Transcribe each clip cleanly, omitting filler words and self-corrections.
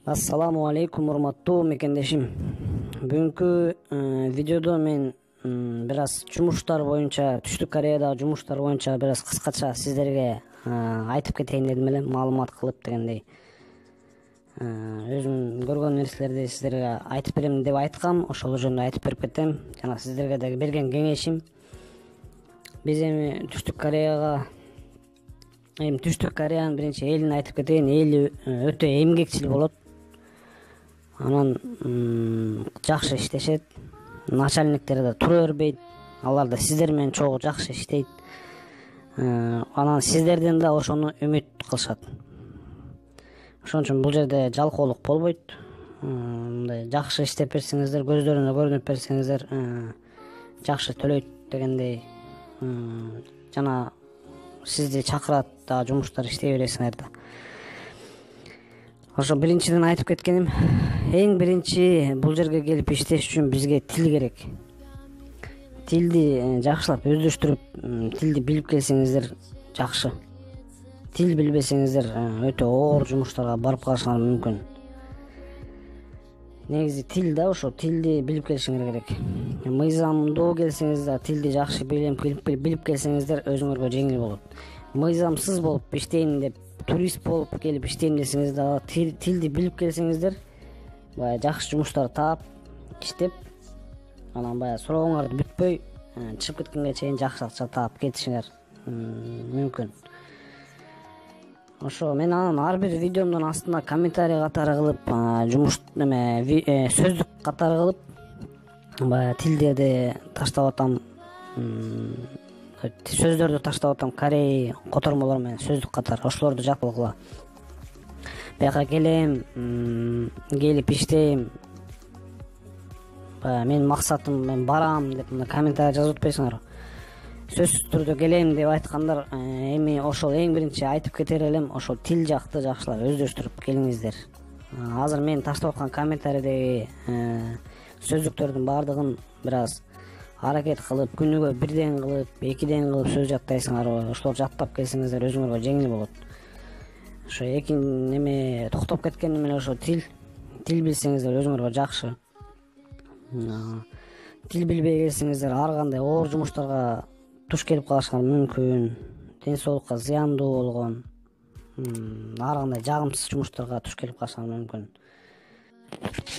Ассаламу алейкум, урматтуу мекендешим. Бүгүнкү видеодо мен бир аз жумуштар боюнча, Түштүк Кореядагы жумуштар боюнча бир аз кыскача сиздерге айтып кетейин дедим эле, маалымат кылып дегендей. Өзүм көргөн нерселерди сиздерге айтып берем деп айткам, ошол жөнүндө айтып берип кетем. Жана сиздерге дагы берген кеңешим, биз эми Түштүк Кореянын биринчи элин айтып кетейин. Эли өтө эмгекчил болот. Анан жакшы иштешет. Начальниктер да тура бербейт. Алар да сиздер менен чогуу жакшы иштейт. Анан сиздерден да ошону үмүт кылышат. Ошон үчүн бул жерде жалкоолук болбойт. Мындай жакшы иштеп берсеңиздер, көздөрүнө көрүнүп берсеңиздер, жакшы төлөйт дегендей. Жана сизди чакырат да жумуштар иштей бересиңер да. Ошо биринчиден айтып кеткеним, эң биринчи бул жерге келип иштеш үчүн бизге тил керек. Тилди жакшылап өздөштүрүп, тилди билип келсеңиздер жакшы. Тил билбесеңиздер өтө оор жумуштарга барып калышыңар мүмкүн. Негизи тил да, ошо тилди билип келишиңер керек. Мыйзамдуу келсеңиздер, тилди жакшы билип келсеңиздер өзүңөргө жеңил болот. Мыйзамсыз болуп иштейин деп, турист болуп келип иштейм десеңиз дагы, тилди билип келсеңиздер, баягы жакшы жумуштар таап, иштеп, анан баягы сурооңарды бүтпөй, чыгып кеткенге чейин жакшы акча таап кетишиңер мүмкүн. Ошо мен анан ар бир видеомдун астына комментарий катары кылып, сөздүк катары кылып, баягы тилдерди таштап атам, сөздөрдү таштап атам, корей котормолор менен сөздүк катары, ошолорду жаткыла. Бияка келем, келип иштейм, менин максатым, мен барам деп мына комментарий жазып атпайсыңарбы? Сөзсүз түрдө келем деп айткандар, эми ошол эң биринчи айтып кетер элем, ошол тил жакты жакшылап өздөштүрүп келиңиздер. Азыр мен таштап аткан комментарийдеги сөздүктөрдүн баардыгын бир аз аракет кылып, күнүгө бирден кылып, экиден кылып сөз жаттайсыңарбы? Ошолор жаттап келсеңиздер өзүңөргө жеңил болот. Ошо эми токтоп кеткеним эле ошо тил билсеңиздер өзүңөргө жакшы. Тил билбей келсеңиздер ар кандай оор жумуштарга туш келип калышыңар мүмкүн. Ден соолукка зыяндуу болгон, ар кандай жагымсыз жумуштарга туш келип калышыңар мүмкүн.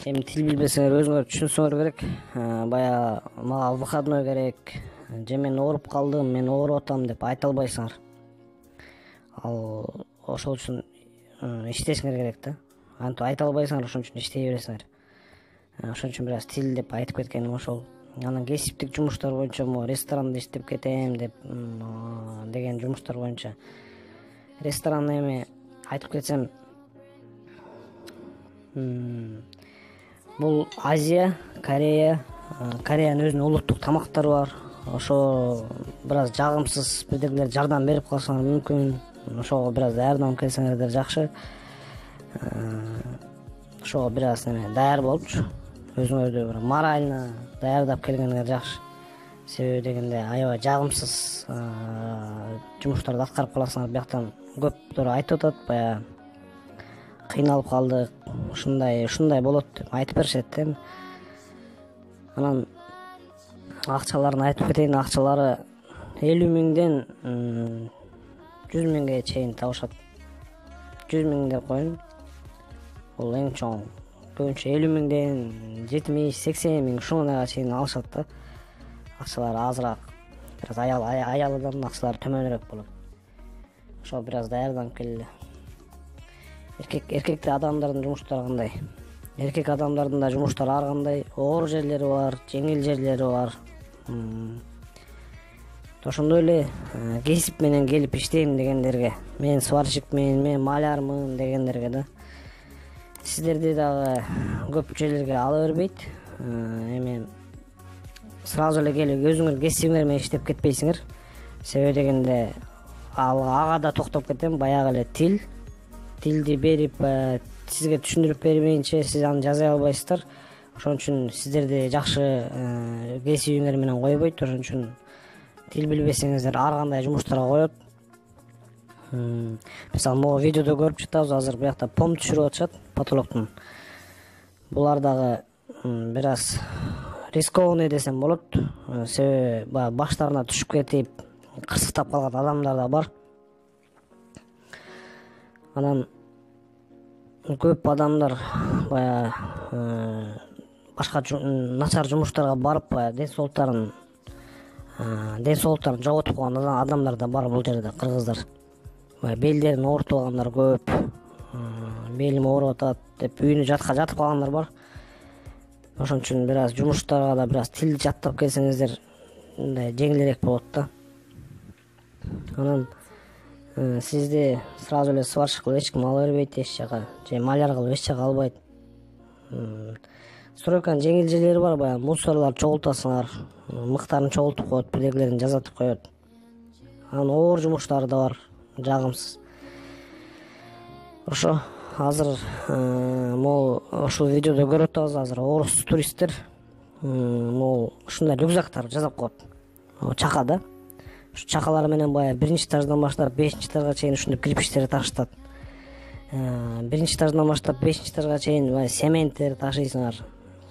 Эми тил билбесеңер өзүңөр түшүнсөңөр керек. Баягы мага выходной керек, же мен ооруп калдым, мен ооруп атам деп айта албайсыңар. Ал ошол үчүн иштешиңер керек да. Антип айта албайсыңар, ошон үчүн иштей бересиңер. Ошон үчүн бир аз тил деп айтып кеткеним ошол. Анан кесиптик жумуштар боюнча, ресторанда иштеп кетем деп деген жумуштар боюнча. Ресторанда эми айтып кетсем, бул Азия, Кореянын өзүнүн улуттук тамактары бар. Ошо бир аз жагымсыз бирдемелер жардам берип калсаңар мүмкүн. Ошого бир аз даярданып келсеңердер жакшы. Ошого бир аз даяр болупчу, өзүңөрдү бир морально даярдап келгениңер жакшы. Себеби дегенде аябай жагымсыз жумуштарды аткарып каласыңар. Бияктан көптөр айтып атат, баягы кыйналып калдык, ушундай болот деп айтып беришет да. Анан акчаларын айтып кетейин. Акчалары 50 миңден 100 миңге чейин табышат. 100 миң деп коеюн. Бул эң чоң. Көбүнчө 50 миңден 70-80 миң ушуңага чейин алышат да. Акчалары азыраак. Бир аз аялдан акчалары төмөнүрөөк болот. Ошо бир аз даярданып келели. Эркекти адамдардын жумуштары кандай? Эркек адамдардын да жумуштары ар кандай. Оор жерлери бар, жеңил жерлери бар. Ошондой эле кесип менен келип иштейм дегендерге, мен сварщикмин, мен малярмын дегендерге да, сиздерди дагы көп жерлерге ала бербейт. Эми сразу эле келип өзүңөр кесибиңер менен иштеп кетпейсиңер. Себеби дегенде ага да токтоп кетем, баягы эле тилди берип, сизге түшүндүрүп бербейинче сиз аны жаза албайсыздар. Ошон үчүн сиздерди жакшы кесибиңер менен койбойт. Ошон үчүн тил билбесеңиздер ар кандай жумуштарга коет. Мисалы могу видеодо көрүп жатабыз, азыр биякта пом түшүрүп атышат потолоктун. Булар дагы бир аз рискованный десем болот. Себеби баягы баштарына түшүп кетип кырсыктап калган адамдар да бар. Анан көп адамдар баягы башка начар жумуштарга барып баягы ден соолуктарын жоготуп калган адамдар да бар бул жерде, кыргыздар. Белдерин оорутуп алгандар көп, белим ооруп атат деп үйүнө жатып калгандар бар. Ошон үчүн бир аз жумуштарга да бир аз тил жаттап келсеңиздер мындай жеңилирээк болот да. Анан сизди сразу эле сварщик кылып эч ким ала бербейт эч жака, же маляр кылып эч жака албайт. Стройканын жеңил жерлери бар, баягы мусорларды чогултасыңар, мыктарын чогултуп коет, бирдегилерин жазатып коет. Анан оор жумуштары да бар, жагымсыз. Ошо азыр могу ушул видеодо көрүп атабыз, азыр орус туристтер могу ушундай рюкзактар жасап коет. Чака да. Ушу чакалар менен баягы 1-этаждан баштап 5-этажга чейин ушундай кирпичтерди ташытат. 1-этаждан баштап 5-этажга чейин баягы сементтер ташыйсыңар.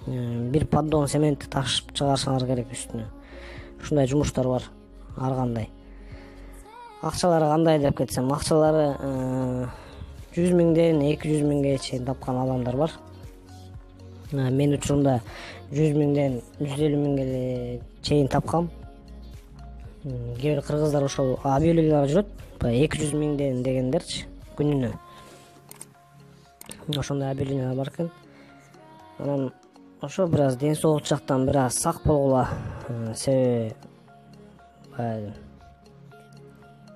Бир поддон сементти ташып чыгарышыңар керек үстүнө. Ушундай жумуштар бар ар кандай. Акчалары кандай деп кетсем, акчалары 100 миңден 200 миңге чейин тапкан адамдар бар. Мен учурумда 100 миңден 150 миңге чейин тапкам. Кээ бир кыргыздар ошол объявлениялар жүрөт, 200 миңден дегендерчи күнүнө. Ошондой объявлениялар бар экен. Анан ошо бир аз ден соолук жактан бир аз сак болгула, себеби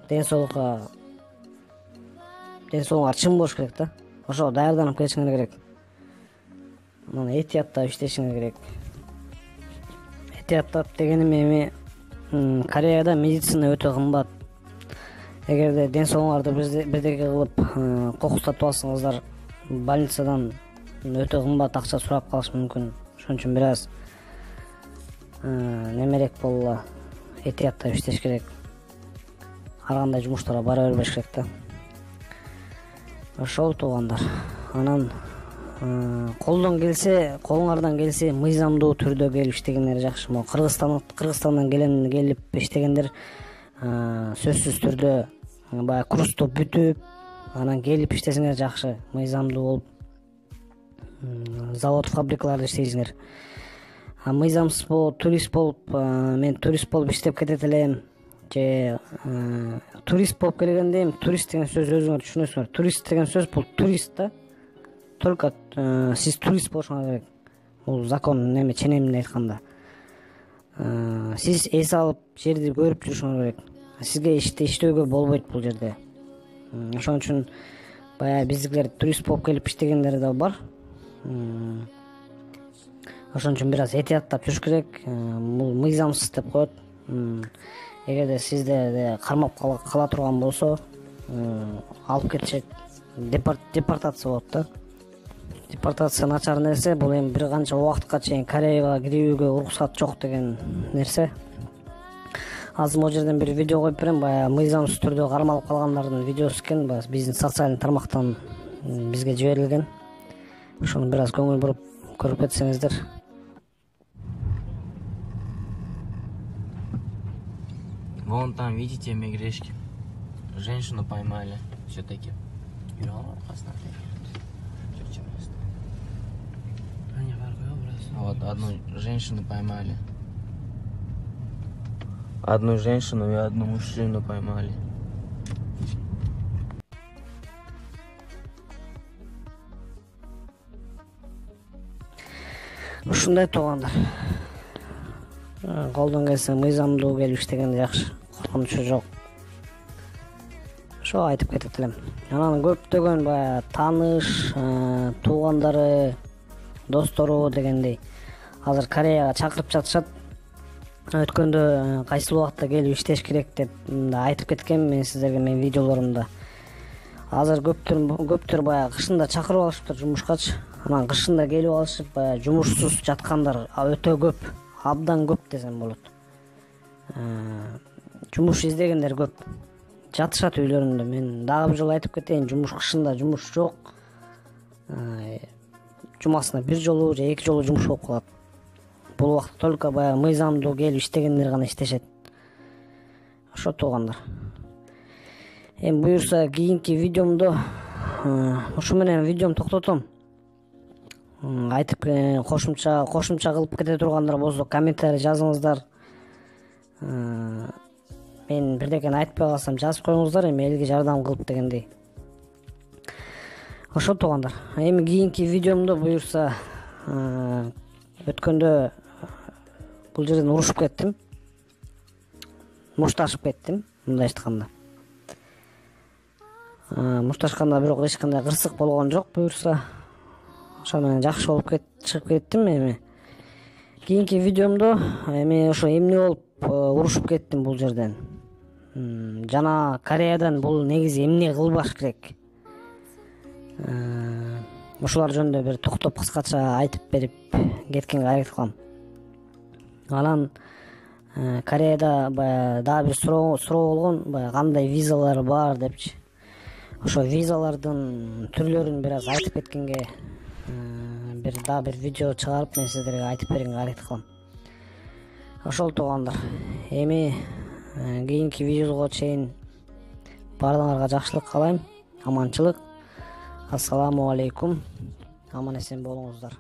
ден соолукка чың болуш керек да. Ошого даярданып келишиңер керек. Анан этияттап иштешиңер керек. Этияттап дегеним эми Кореяда медицина өтө кымбат. Эгерде ден соолугуңарды бирдеке кылып кокустатып алсаңыздар, больницадан өтө кымбат акча сурап калышы мүмкүн. Ошон үчүн бир аз немерек болула, этияттап иштеш керек. Ар кандай жумуштарга бара бербеш керек да. Ошол туугандар. Анан колуңардан келсе мыйзамдуу түрдө келип иштегендер жакшы. Могу Кыргызстандан келип иштегендер сөзсүз түрдө баягы курсту бүтүп, анан келип иштесеңер жакшы, мыйзамдуу болуп, завод, фабрикаларда иштейсиңер. Мыйзамсыз болуп, турист болуп, мен турист болуп иштеп кетет элем, же турист болуп келгенде эми турист деген сөздү өзүңөр түшүнөсүңөр. Турист деген сөз бул турист да. Только сиз турист болушуңуз керек. Бул закон неме ченеминде айтканда. Сиз эс алып жерди көрүп жүрүшүңүз керек. Сизге иштөөгө болбойт бул жерде. Ошон үчүн баягы биздикилер турист болуп келип иштегендер да бар. Ошон үчүн бир аз этияттап жүрүш керек. Бул мыйзамсыз деп коет. Эгерде сизде кармап кала турган болсо, алып кетишет. Депортация болот да. Депортация начар нерсе. Бул эми бир канча убакытка чейин Кореяга кирүүгө уруксат жок деген нерсе. Азыр могу жерден бир видео коюп берем. Баягы мыйзамсыз түрдө кармалып калгандардын видеосу экен. Биздин социалдык тармактан бизге жиберилген. Ошону бир аз көңүл буруп көрүп кетсеңиздер. Вон там, видите, мегрешки. Женщину поймали. Все-таки. Вот, одну женщину поймали. Одну женщину и одну мужчину поймали. Ушундай туугандар. Колдон келсе мыйзамдуу келип иштеген жакшы. Коркунучу жок. Ошо айтып кетет элем. Анан көптөгөн баягы тааныш, туугандары, достору дегендей азыр Кореяга чакырып жатышат. Өткөндө кайсыл убакытта келип иштеш керек деп айтып кеткем мен сиздерге менин видеолорумда. Азыр көптөр баягы кышында чакырып алышыптыр жумушкачы. Анан кышында келип алышып, баягы жумушсуз жаткандар өтө көп, абдан көп десем болот. Жумуш издегендер көп. жатышат үйлөрүндө. Мен дагы бир жолу айтып кетейин, жумуш кышында жумуш жок. Жумасына бир жолу же 2 жолу жумуш болуп калат. Бул убакта только баягы мыйзамдуу келип иштегендер гана иштешет. Ошо туугандар. Эми буюрса кийинки видеомдо ушу менен видеом токтотом. Айтып кошумча кылып кете тургандар болсо комментарий жазыңыздар. Мен бирдекени айтпай калсам жазып коюңуздар, эми элге жардам кылып дегендей. Ошо туугандар. Эми кийинки видеомдо буюрса өткөндө бул жерден урушуп кеттим. Мушташып кеттим, мындай айтканда. Мушташканда бирок эч кандай кырсык болгон жок буюрса. Ошо менен жакшы болуп чыгып кеттим. Эми кийинки видеомдо эми ошо эмне болуп урушуп кеттим бул жерден. Жана Кореядан бул негизи эмне кылбаш керек? Ушулар жөнүндө бир токтоп кыскача айтып берип кеткенге аракет кылам. Анан Кореяда баягы дагы бир суроо болгон, баягы кандай визалар бар депчи. Ошо визалардын түрлөрүн бир аз айтып кеткенге дагы бир видео чыгарып мен сиздерге айтып бергенге аракет кылам. Ошол туугандар. Эми кийинки видеого чейин баардыгыңарга жакшылык каалайм, аманчылык. Ассаламу алейкум. Аман эсен болуңуздар.